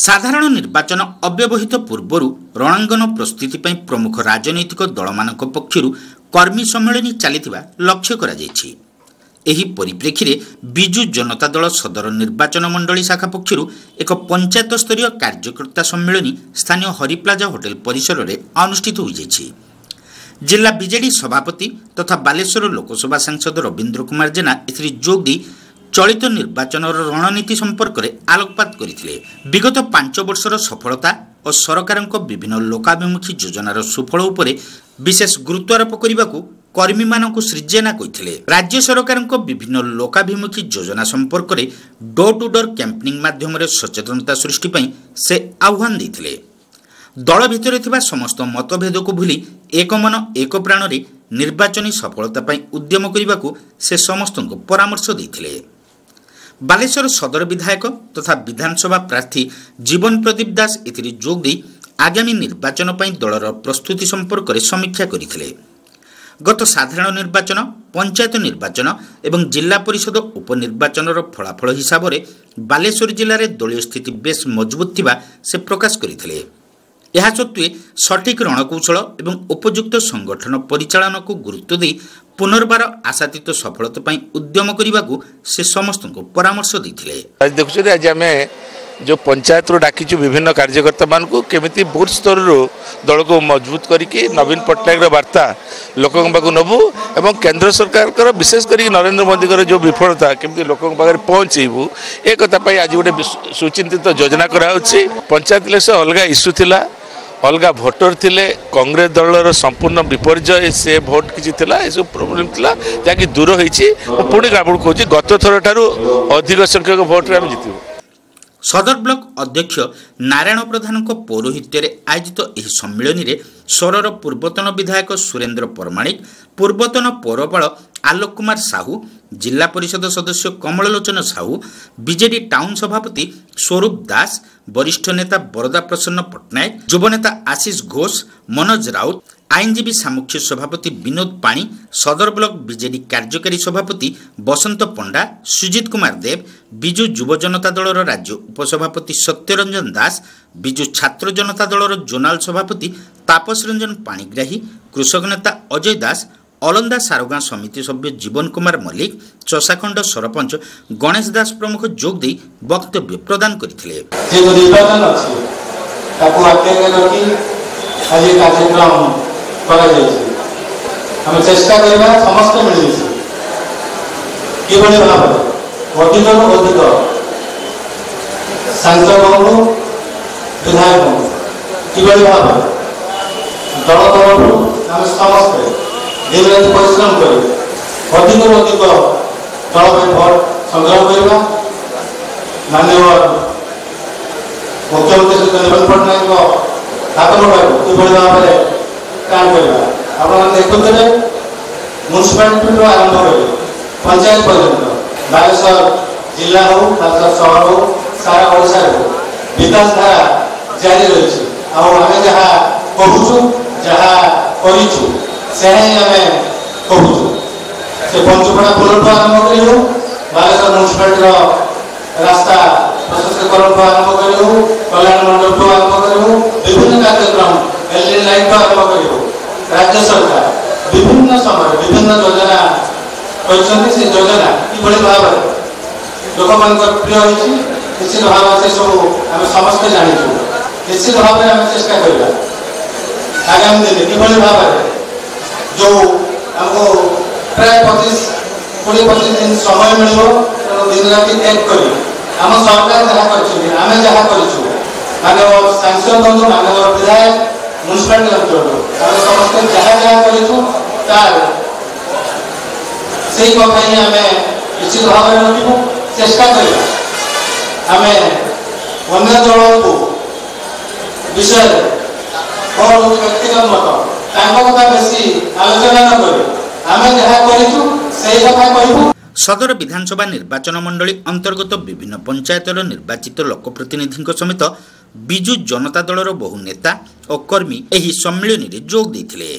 ସାଧାରଣ ନିର୍ବାଚନ ଅବ୍ୟବହିତ ପୂର୍ବରୁ ରଣାଙ୍ଗନ ପ୍ରସ୍ତୁତି ପାଇଁ ପ୍ରମୁଖ ରାଜନୈତିକ ଦଳମାନଙ୍କ ପକ୍ଷରୁ କର୍ମୀ ସମ୍ମିଳନୀ ଚାଲିଥିବା ଲକ୍ଷ୍ୟ କରାଯାଇଛି। ଏହି ପରିପ୍ରେକ୍ଷୀରେ ବିଜୁ ଜନତା ଦଳ ସଦର ନିର୍ବାଚନ ମଣ୍ଡଳୀ ଶାଖା ପକ୍ଷରୁ ଏକ ପଞ୍ଚାୟତ ସ୍ତରୀୟ କାର୍ଯ୍ୟକର୍ତ୍ତା ସମ୍ମିଳନୀ ସ୍ଥାନୀୟ ହରିପ୍ଲାଜା ହୋଟେଲ ପରିସରରେ ଅନୁଷ୍ଠିତ ହୋଇଯାଇଛି। ଜିଲ୍ଲା ବିଜେଡି ସଭାପତି ତଥା ବାଲେଶ୍ୱର ଲୋକସଭା ସାଂସଦ ରବୀନ୍ଦ୍ର କୁମାର ଜେନା ଏଥିରେ ଯୋଗ ଦେଇ ଚଳିତ ନିର୍ବାଚନର ରଣନୀତି ସମ୍ପର୍କରେ ଆଲୋକପାତ କରିଥିଲେ। ବିଗତ 5 ବର୍ଷର ସଫଳତା ଓ ସରକାରଙ୍କ ବିଭିନ୍ନ ଲୋକାଭିମୁଖୀ ଯୋଜନାର ସୁଫଳ ଉପରେ ବିଶେଷ ଗୁରୁତ୍ୱାରୋପ କରିବାକୁ କର୍ମୀମାନଙ୍କୁ ଶ୍ରୀ ଜେନା କହିଥିଲେ। ରାଜ୍ୟ ସରକାରଙ୍କ ବିଭିନ୍ନ ଲୋକାଭିମୁଖୀ ଯୋଜନା ସମ୍ପର୍କରେ ଡୋର୍ ଟୁ ଡୋର୍ କ୍ୟାମ୍ପେନିଂ ମାଧ୍ୟମରେ ସଚେତନତା ସୃଷ୍ଟି ପାଇଁ ସେ ଆହ୍ୱାନ ଦେଇଥିଲେ। ଦଳ ଭିତରେ ଥିବା ସମସ୍ତ ମତଭେଦକୁ ଭୁଲି ଏକ ମନ ଏକ ପ୍ରାଣରେ ନିର୍ବାଚନୀ ସଫଳତା ପାଇଁ ଉଦ୍ୟମ କରିବାକୁ ସେ ସମସ୍ତଙ୍କୁ ପରାମର୍ଶ ଦେଇଥିଲେ। ବାଲେଶ୍ୱର ସଦର ବିଧାୟକ ତଥା ବିଧାନସଭା ପ୍ରାର୍ଥୀ ଜୀବନ ପ୍ରଦୀପ ଦାସ ଏଥିରେ ଯୋଗ ଦେଇ ଆଗାମୀ ନିର୍ବାଚନ ପାଇଁ ଦଳର ପ୍ରସ୍ତୁତି ସମ୍ପର୍କରେ ସମୀକ୍ଷା କରିଥିଲେ। ଗତ ସାଧାରଣ ନିର୍ବାଚନ, ପଞ୍ଚାୟତ ନିର୍ବାଚନ ଏବଂ ଜିଲ୍ଲା ପରିଷଦ ଉପନିର୍ବାଚନର ଫଳାଫଳ ହିସାବରେ ବାଲେଶ୍ୱର ଜିଲ୍ଲାରେ ଦଳୀୟ ସ୍ଥିତି ବେଶ୍ ମଜବୁତ ଥିବା ସେ ପ୍ରକାଶ କରିଥିଲେ। ଏହା ସତ୍ତ୍ୱେ ସଠିକ୍ ରଣକୌଶଳ ଏବଂ ଉପଯୁକ୍ତ ସଂଗଠନ ପରିଚାଳନାକୁ ଗୁରୁତ୍ୱ ଦେଇ ପୁନର୍ବାର ଆଶାତୀତ ସଫଳତା ପାଇଁ ଉଦ୍ୟମ କରିବାକୁ ସେ ସମସ୍ତଙ୍କୁ ପରାମର୍ଶ ଦେଇଥିଲେ। ଆଜି ଦେଖୁଛନ୍ତି, ଆଜି ଆମେ ଯେଉଁ ପଞ୍ଚାୟତରୁ ଡାକିଛୁ ବିଭିନ୍ନ କାର୍ଯ୍ୟକର୍ତ୍ତାମାନଙ୍କୁ, କେମିତି ବୁଥ୍ ସ୍ତରରୁ ଦଳକୁ ମଜବୁତ କରିକି ନବୀନ ପଟ୍ଟନାୟକର ବାର୍ତ୍ତା ଲୋକଙ୍କ ପାଖକୁ ନେବୁ ଏବଂ କେନ୍ଦ୍ର ସରକାରଙ୍କର, ବିଶେଷ କରିକି ନରେନ୍ଦ୍ର ମୋଦିଙ୍କର ଯେଉଁ ବିଫଳତା କେମିତି ଲୋକଙ୍କ ପାଖରେ ପହଞ୍ଚେଇବୁ, ଏ କଥା ପାଇଁ ଆଜି ଗୋଟେ ସୁଚିନ୍ତିତ ଯୋଜନା କରାହେଉଛି। ପଞ୍ଚାୟତ ଇଲେକ୍ସନ ଅଲଗା ଇସ୍ୟୁ ଥିଲା, ଅଲଗା ଭୋଟର ଥିଲେ, କଂଗ୍ରେସ ଦଳର ସମ୍ପୂର୍ଣ୍ଣ ବିପର୍ଯ୍ୟୟ, ସେ ଭୋଟ କିଛି ଥିଲା, ଏସବୁ ପ୍ରୋବ୍ଲେମ୍ ଥିଲା ଯାହାକି ଦୂର ହେଇଛି। ମୁଁ ପୁଣି ଆପଣଙ୍କୁ କହୁଛି, ଗତ ଥର ଠାରୁ ଅଧିକ ସଂଖ୍ୟକ ଭୋଟରେ ଆମେ ଜିତିବୁ। ସଦର ବ୍ଲକ ଅଧ୍ୟକ୍ଷ ନାରାୟଣ ପ୍ରଧାନଙ୍କ ପୌରୋହିତ୍ୟରେ ଆୟୋଜିତ ଏହି ସମ୍ମିଳନୀରେ ସୋରର ପୂର୍ବତନ ବିଧାୟକ ସୁରେନ୍ଦ୍ର ପରମାଣିକ, ପୂର୍ବତନ ପୌରପାଳ ଆଲୋକ କୁମାର ସାହୁ, ଜିଲ୍ଲା ପରିଷଦ ସଦସ୍ୟ କମଳଲୋଚନ ସାହୁ, ବିଜେଡି ଟାଉନ୍ ସଭାପତି ସ୍ୱରୂପ ଦାସ, ବରିଷ୍ଠ ନେତା ବରଦା ପ୍ରସନ୍ନ ପଟ୍ଟନାୟକ, ଯୁବନେତା ଆଶିଷ ଘୋଷ, ମନୋଜ ରାଉତ, ଆଇନଜୀବୀ ସାମୁଖ୍ୟ ସଭାପତି ବିନୋଦ ପାଣି, ସଦର ବ୍ଲକ ବିଜେଡି କାର୍ଯ୍ୟକାରୀ ସଭାପତି ବସନ୍ତ ପଣ୍ଡା, ସୁଜିତ କୁମାର ଦେବ, ବିଜୁ ଯୁବ ଜନତା ଦଳର ରାଜ୍ୟ ଉପସଭାପତି ସତ୍ୟରଞ୍ଜନ ଦାସ, ବିଜୁ ଛାତ୍ର ଜନତା ଦଳର ଜୋନାଲ ସଭାପତି ତାପସ ରଞ୍ଜନ ପାଣିଗ୍ରାହୀ, କୃଷକ ନେତା ଅଜୟ ଦାସ, ଅଲନ୍ଦା ସାରଗାଁ ସମିତି ସଭ୍ୟ ଜୀବନ କୁମାର ମଲ୍ଲିକ, ଚଷାଖଣ୍ଡ ସରପଞ୍ଚ ଗଣେଶ ଦାସ ପ୍ରମୁଖ ଯୋଗ ଦେଇ ବକ୍ତବ୍ୟ ପ୍ରଦାନ କରିଥିଲେ। ଯେହେତୁ ନିର୍ବାଚନ ଅଛି, ତାକୁ ଆଖି ଆଗରେ ରଖି ଆଜି କାର୍ଯ୍ୟକ୍ରମ କରାଯାଇଛି। ଆମେ ଚେଷ୍ଟା କରିବା ସମସ୍ତେ ମିଳିମିଶି କିଭଳି ଭାବରେ ଅଧିକରୁ ଅଧିକ ସାଂସଦଙ୍କୁ, ବିଧାୟକଙ୍କୁ କିଭଳି ଭାବରେ ଦଳ ତରଫରୁ ଆମେ ସମସ୍ତେ ଦିନରାତି ପରିଶ୍ରମ କରି ଅଧିକରୁ ଅଧିକ ଦଳ ପାଇଁ ଭୋଟ ସଂଗ୍ରହ କରିବା। ମାନ୍ୟବର ମୁଖ୍ୟମନ୍ତ୍ରୀ ଶ୍ରୀ ନବୀନ ପଟ୍ଟନାୟକଙ୍କ ହାତମୁଠାକୁ କିଭଳି ଭାବରେ କାମ କରିବା। ଆପଣମାନେ ଦେଖୁଥିବେ, ମ୍ୟୁନିସିପାଲିଟିଠୁ ଆରମ୍ଭ କରି ପଞ୍ଚାୟତ ପର୍ଯ୍ୟନ୍ତ ବାଲେଶ୍ୱର ଜିଲ୍ଲା ହଉ, ବାଲେଶ୍ୱର ସହର ହଉ, ସାରା ଓଡ଼ିଶାରେ ହଉ, ବିକାଶ ଧାରା ଜାରି ରହିଛି। ଆଉ ଆମେ ଯାହା କହୁଛୁ, ଯାହା କରିଛୁ, ସେହା ହିଁ ଆମେ କହୁଛୁ। ସେ ପଞ୍ଚୁପଡ଼ା ପୋଲଠୁ ଆରମ୍ଭ କରି ହଉ, ବାଲେଶ୍ୱର ମ୍ୟୁନିସିପାଲିଟିର ରାସ୍ତା ପ୍ରଶସ୍ତିକରଣଠୁ ଆରମ୍ଭ କରି ହଉ, କଲ୍ୟାଣ ମଣ୍ଡପଠୁ ଆରମ୍ଭ କରି ହଉ, ବିଭିନ୍ନ କାର୍ଯ୍ୟକ୍ରମ ଏଲ୍ଇଡି ଲାଇଟ୍ଠୁ ଆରମ୍ଭ କରି ହଉ, ରାଜ୍ୟ ସରକାର ବିଭିନ୍ନ ସମୟରେ ବିଭିନ୍ନ ଯୋଜନା କରିଛନ୍ତି। ସେ ଯୋଜନା କିଭଳି ଭାବରେ ଲୋକମାନଙ୍କର ପ୍ରିୟ ହୋଇଛି, ନିଶ୍ଚିତ ଭାବରେ ସେସବୁ ଆମେ ସମସ୍ତେ ଜାଣିଛୁ। ନିଶ୍ଚିତ ଭାବରେ ଆମେ ଚେଷ୍ଟା କରିବା ଆଗାମୀ ଦିନେ କିଭଳି ଭାବରେ ଯେଉଁ ଆମକୁ ପ୍ରାୟ 25 20 25 ଦିନ ସମୟ ମିଳିବ, ତେଣୁ ଦିନ ରାତି ଏକ କରି ଆମ ସରକାର ଯାହା କରିଛନ୍ତି, ଆମେ ଯାହା କରିଛୁ, ମାନ୍ୟବର ସାଂସଦ ହୁଅନ୍ତୁ, ମାନ୍ୟବର ବିଧାୟକ, ମ୍ୟୁନିସିପାଲିଟି ଅଞ୍ଚଳରୁ ଆମେ ସମସ୍ତେ ଯାହା ଯାହା କରିଛୁ, ତାର ସେଇ କଥା ହିଁ ଆମେ ନିଶ୍ଚିତ ଭାବରେ ରଖିବୁ। ଚେଷ୍ଟା କରିବା ଆମେ ଅନ୍ୟ ଦଳକୁ ବିଷୟରେ, ମୋର ହେଉଛି ବ୍ୟକ୍ତିଗତ ମତ, ତାଙ୍କ କଥା ବେଶୀ ଆଲୋଚନା ନ କରି ଆମେ ଯାହା କରିଛୁ ସେଇ କଥା କହିବୁ। ସଦର ବିଧାନସଭା ନିର୍ବାଚନ ମଣ୍ଡଳୀ ଅନ୍ତର୍ଗତ ବିଭିନ୍ନ ପଞ୍ଚାୟତର ନିର୍ବାଚିତ ଲୋକପ୍ରତିନିଧିଙ୍କ ସମେତ ବିଜୁ ଜନତା ଦଳର ବହୁ ନେତା ଓ କର୍ମୀ ଏହି ସମ୍ମିଳନୀରେ ଯୋଗ ଦେଇଥିଲେ।